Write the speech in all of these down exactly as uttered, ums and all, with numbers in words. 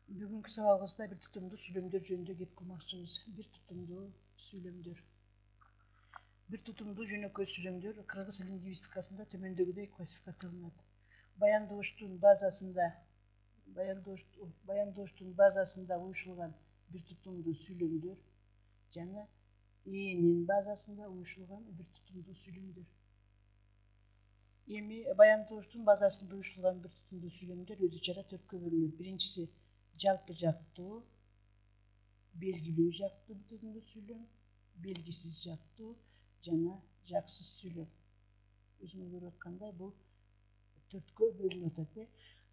Бүгүнкү сабагыбызда бир тутумдуу сүйлөмдөр жөнүндө кеп кылмакчыбыз. Бир тутумдуу сүйлөмдөр. Бир тутумдуу жөнөкөй сүйлөмдөр кыргыз лингвистикасында төмөндөгүдөй классификацияланат. Баяндооштун базасында баяндооштун базасында уюшулган бир тутумдуу сүйлөмдөр жана ээлинин базасында уюшулган бир тутумдуу сүйлөмдөр. Эми баяндооштун базасында уюшулган бир тутумдуу сүйлөмдөр өзү чара төрткө бөлүнөт. Биринчиси жалпы жактуу, белгилүү жактуу бир тутумдуу сүйлөм, белгисиз жактуу жана жаксыз сүйлөм. Өзүңөр көрүп аткандай бул төрткө бөлүнүп атат.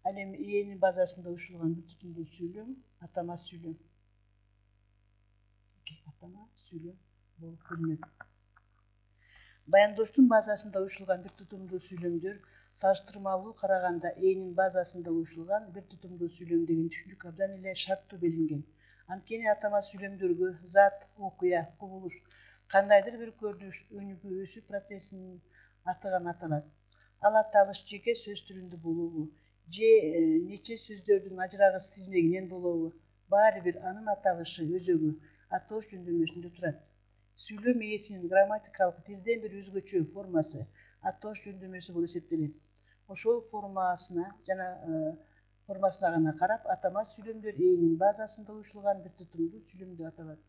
Ал эми ээлинин базасында уюшулган бир тутумдуу сүйлөм атама сүйлөм. Атама сүйлөм болуп бөлүнөт. Баяндооштун базасында уюшулган бир тутумдуу сүйлөмдөр салыштырмалуу караганда ээлинин базасында уюшулган бир тутумдуу сүйлөм деген түшүнүк абдан эле шарттуу белгинген. Анткени атама сүйлөмдөргө зат, окуя, кубулуш, кандайдыр бир көрүнүш, өнүгүү процессинин аты гана аталат. Ал аталыш жеке сөз түрүндө болобу же нече сөздөрдүн ажырагыс тизмегинен болобу, баары бир анын аталышы өзөгү атоош жөндөмүсүндө турат. Сүйлөм ээсинин грамматикалык бирден бир өзгөчө формасы атоош жөндөмүсү болуп эсептелет. Ошол формасына жана формасына гана карап атама сүйлөмдөр ээлинин базасында уюшулган бир тутумдуу сүйлөм деп аталат.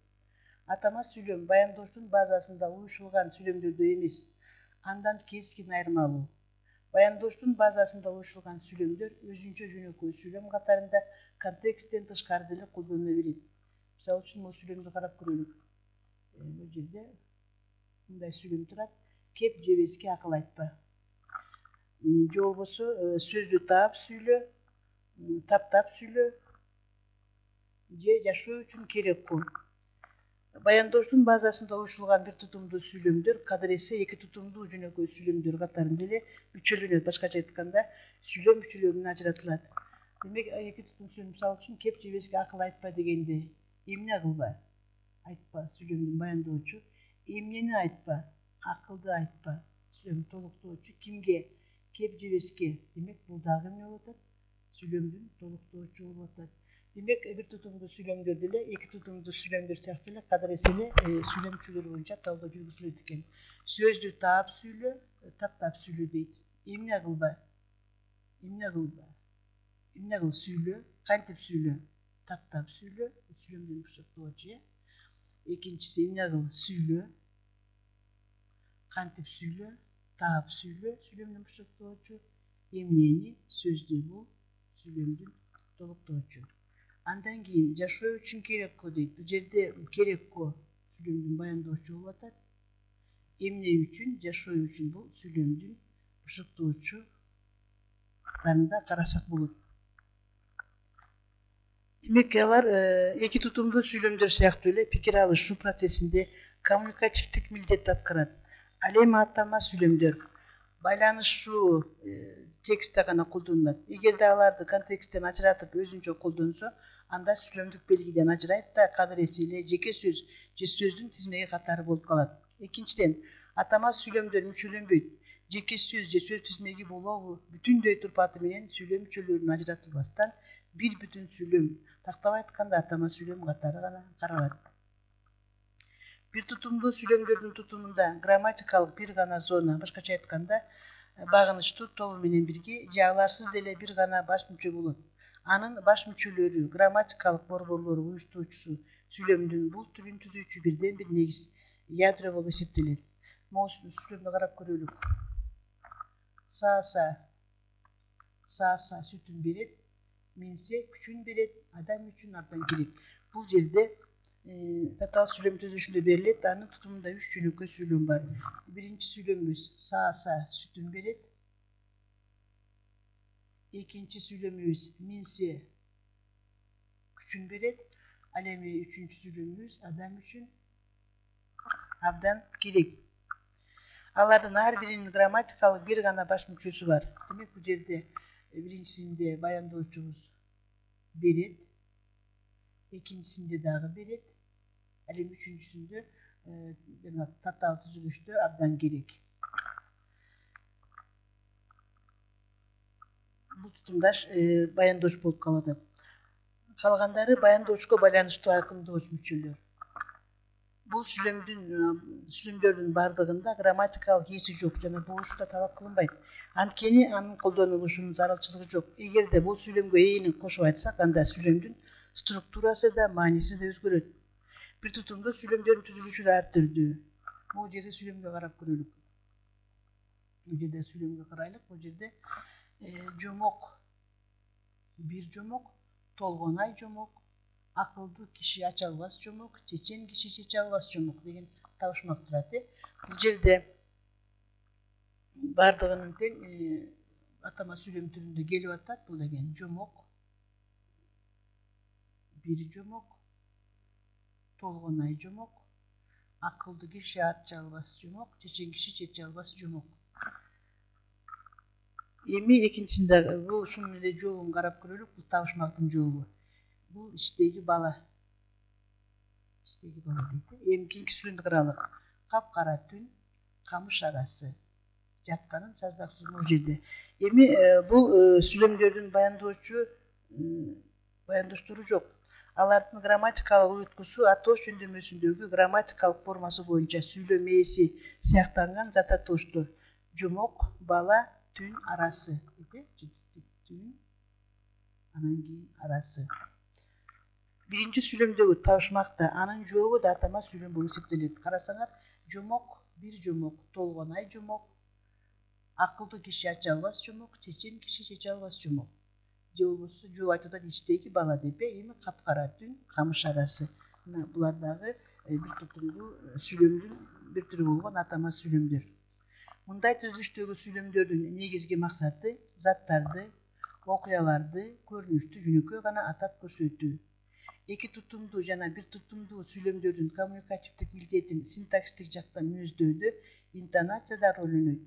Атама сүйлөм баяндооштун базасында уюшулган сүйлөмдөрдөй эмес, андан кескин айырмалуу. Баяндооштун базасында уюшулган сүйлөмдөр өзүнчө жөнөкөй сүйлөм катарында контексттен тышкары деле колдонула берет. Мисалы үчүн бул сүйлөмдү карап көрөлүк. Бул жерде мындай сүйлөм турат: кеп жебеске акыл айтпа. Же болбосо сөздү таап сүйлө, таптап сүйлө, же жашоо үчүн керек кыл. Баяндооштун базасында уюшулган бир тутумдуу сүйлөмдөр кадыр эсе эки тутумдуу жөнөкөй сүйлөмдөр катарында эле мүчөлөнөт. Башкача айтканда, сүйлөм мүчөлөрүнөн ажыратылат. Демек, эки тутум сүйлөм, мисалы үчүн кеп жебеске акыл айтпа дегенде эмне кылба? Айтпа сүйлөмдүн баяндоочу. Эмнени айтпа? Акылды айтпа. Сүйлөм толуктоочу кимге? Кеп жебеске. Демек, бул дагы эмне болуп атат? Сүйлөмдүн толуктоочу болуп атат. Демек, бир тутумдуу сүйлөмдөр деле эки тутумдуу сүйлөмдөр сыяктуу эле кадыр эсе эле сүйлөм мүчөлөрү боюнча талдоо жүргүзүлөт экен. Сөздү таап сүйлө, таптап сүйлө дейт. Эмне кылба? Эмне кылба? Эмне кыл сүйлө, кантип сүйлө? Таптап сүйлө, сүйлөмдүн бушаттоочу. Экинчиси эмне кыл сүйлө, кантип сүйлө, таап сүйлө, сүйлөмдүн бушаттоочу. Эмнени? Сөздү бул, сүйлөмдүн толуктоочу. Андан кийин жашоо үчүн керекко дейт. Бул жерде керекко сүйлөмдүн баяндоочу болуп атат. Эмне үчүн? Жашоо үчүн бул сүйлөмдүн бушаттоочуларында карасак болот. Демек, алар эки тутумдуу сүйлөмдөр сыяктуу эле пикир алышуу процессинде коммуникативдик милдетти аткарат. Ал эми атама сүйлөмдөр байланышуу текстте гана колдонулат. Эгерде аларды контексттен ажыратып өзүнчө колдонсо, анда сүйлөмдүк белгиден ажырайт да кадыр эсе эле жеке сөз же сөздүн тизмеги катары болуп калат. Экинчиден, атама сүйлөмдөр мүчөлөнбөйт. Жеке сөз же сөз тизмеги болобу бүтүндөй турпаты менен сүйлөм мүчөлөрүнөн ажыратылбастан бир бүтүн сүйлөм, тактап айтканда атама сүйлөм катары гана каралат. Бир тутумдуу сүйлөмдөрдүн тутумунда грамматикалык бир гана зона, башкача айтканда, багынычтуу тобу менен бирге же аларсыз деле бир гана баш мүчө болот. Анын баш мүчөлөрү, грамматикалык борборлору уюштуруучусу сүйлөмдүн бул түрүн түзүүчү бирден бир негиз ядро болуп эсептелет. Могу сүйлөмдү карап көрөлүк. Сааса, сааса сүтүн берет, менсе күчүн берет, адам үчүн абдан керек. Бул жерде татаал сүйлөм түзүлүшүндө берилет. Анын тутумунда үч жөнөкөй сүйлөм бар. Биринчи сүйлөмүбүз сааса сүтүн берет. Экинчи сүйлөмүбүз менсе күчүн берет. Ал эми үчүнчү сүйлөмүбүз адам үчүн абдан керек. Алардын ар биринин грамматикалык бир гана баш мүчөсү бар. Демек, бул жерде биринчисинде баяндоочубуз берет, экинчисинде дагы берет, ал эми үчүнчүсүндө жана татаал түзүлүштө абдан керек. Бул тутумдаш баяндоош болуп калып атат. Калгандары баяндоочко байланыштуу айкындооч мүчөлөр. Бул сүйлөмдүн сүйлөмдөрдүн бардыгында грамматикалык ээси жок жана болушу да талап кылынбайт. Анткени анын колдонулушунун зарылчылыгы жок. Эгерде бул сүйлөмгө ээни кошуп айтсак, анда сүйлөмдүн структурасы да, мааниси да өзгөрөт. Бир тутумдуу сүйлөмдөрдүн түзүлүшү да ар түрдүү. Бул жерде сүйлөмгө карап көрөлүк. Бул жерде сүйлөмгө карайлык. Бул жерде жомок, бир жомок, толгонай жомок, акылдуу киши ача албас жомок, чечен киши чече албас жомок деген табышмак турат. Бул жерде бардыгынын тең атама сүйлөм түрүндө келип атат. Бул деген жомок, бир жомок, толгонай жомок, акылдуу киши ача албас жомок, чечен киши чече албас жомок. Эми экинчисинде бул ушунун эле жообун карап көрөлүк. Бул табышмактын жообу. Бул иштеги бала. Иштеги бала дейт. Эми кийинки сүйлөмдү карайлык. Капкара түн, камыш арасы. Жатканым саздаксыз бул жерде. Эми бул сүйлөмдөрдүн баяндоочу баяндоштору жок. Алардын грамматикалык уюткусу атоош жөндөмөсүндөгү грамматикалык формасы боюнча сүйлөм ээси сыяктанган зат атооштор. Жомок, бала, түн, арасы. Түн, анан кийин арасы. Биринчи сүйлөмдөгү табышмакта анын жообу да атама сүйлөм болуп эсептелет. Карасаңар, жомок, бир жомок, толгонай жомок, акылдуу киши ача албас жомок, чечен киши чече албас жомок. Же болбосо жооп айтып атат иштеги бала деп. Эми капкара түн, камыш арасы. Мына булар дагы бир тутумдуу сүйлөмдүн бир түрү болгон атама сүйлөмдөр. Мындай түзүлүштөгү сүйлөмдөрдүн негизги максаты заттарды, окуяларды көрүнүштүү жөнөкөй гана атап көрсөтүү. Эки тутумдуу жана бир тутумдуу сүйлөмдөрдүн коммуникативдик милдетин синтаксистик жактан мүнөздөдө интонация да роль ойнойт.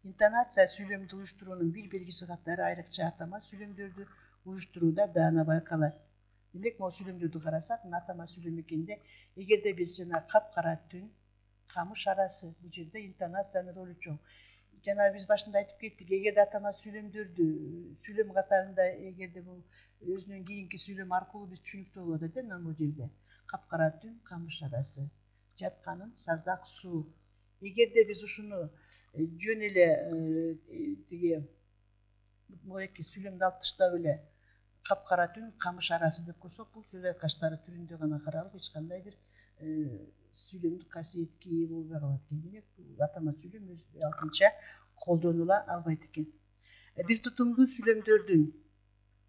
Интонация сүйлөмдү уюштуруунун бир белгиси катары айрыкча атама сүйлөмдөрдү уюштурууда даана байкалат. Демек, могу сүйлөмдөрдү карасак, атама сүйлөм экенде, эгерде биз жана капкара түн, камыш арасы, бул жерде интонациянын ролу чоң. Жана биз башында айтып кеттик, эгерде атама сүйлөмдөрдү сүйлөм катарында эгерде бул өзүнөн кийинки сүйлөм аркылуу биз түшүнүктүү болот экен, мына бул жерде капкара түн, камыш арасы, жатканым саздак суу. Эгерде биз ушуну жөн эле тиги моеки сүйлөмдү алып таштап эле капкара түн, камыш арасы деп койсок, бул сөз айкаштары түрүндө гана каралып, эч кандай бир сүйлөмдүк касиетке ээ болбой калат экен. Демек, бул атама сүйлөм өз алдынча колдонула албайт экен. Бир тутумдуу сүйлөмдөрдүн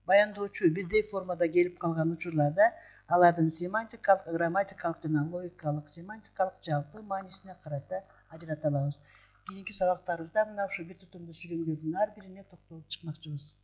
баяндоочу бирдей формада келип калган учурларда алардын семантикалык, грамматикалык жана логикалык, семантикалык жалпы маанисине карата ажырата алабыз. Кийинки сабактарыбызда мына ушу бир тутумдуу сүйлөмдөрдүн ар бирине токтолуп чыкмакчыбыз.